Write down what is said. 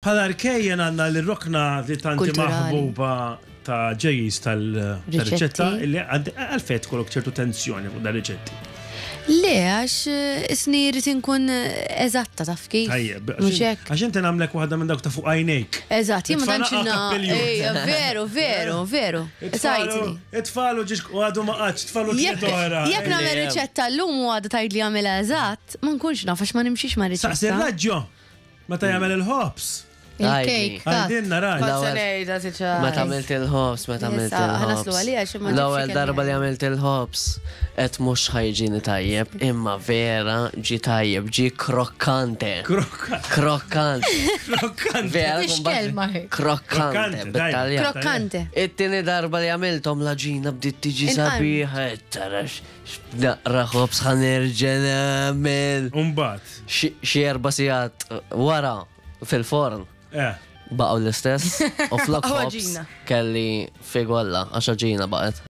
Bħala rkejjen għandna l-rokna li tanti maħbuba ta' ġejjis tal-riċetta illi għalfejn tkollok ċertu tensjoni fuq dar-riċetti. Le, għax eh, isni rrid inkun eh, eżatta taf kif. Tajjeb, għax inti nagħmlek waħda minn dawk ta' fuq għajnejk. Eżatt, jien ma tantx Veru, veru, veru. Sajtni. It-tfal u ġiex u għadu ma qatx, tfal u tliet oħra. Jekk nagħmel riċetta llum u għadu tgħid li għamilha eżatt, ma nkunx naf għax ma nimxix ma' riċetta. Saqsi r-raġġo meta jagħmel il-ħobż. Il-kejk. Għajdilna raġ. Meta għamilt il-ħobż, meta għamilt il-ħobż. L-ewwel darba li għamilt il-ħobż, qed mhux ħajġini tajjeb, imma vera ġi tajjeb, ġi krokkante. Krokkante. Krokkante. Vera, X'kelma hi? Krokkante. bit-Taljan. Krokkante. It-tieni darba li għamilthom l-għaġina bdiet tiġi sabiħa, tara naqra ħobż ħa nerġa' nagħmel. Umbagħad. Xi erba' sigħat wara fil-forn. Eh. Baqgħu l-istess u flok ħobż kelli figolla għax għaġina baqgħet.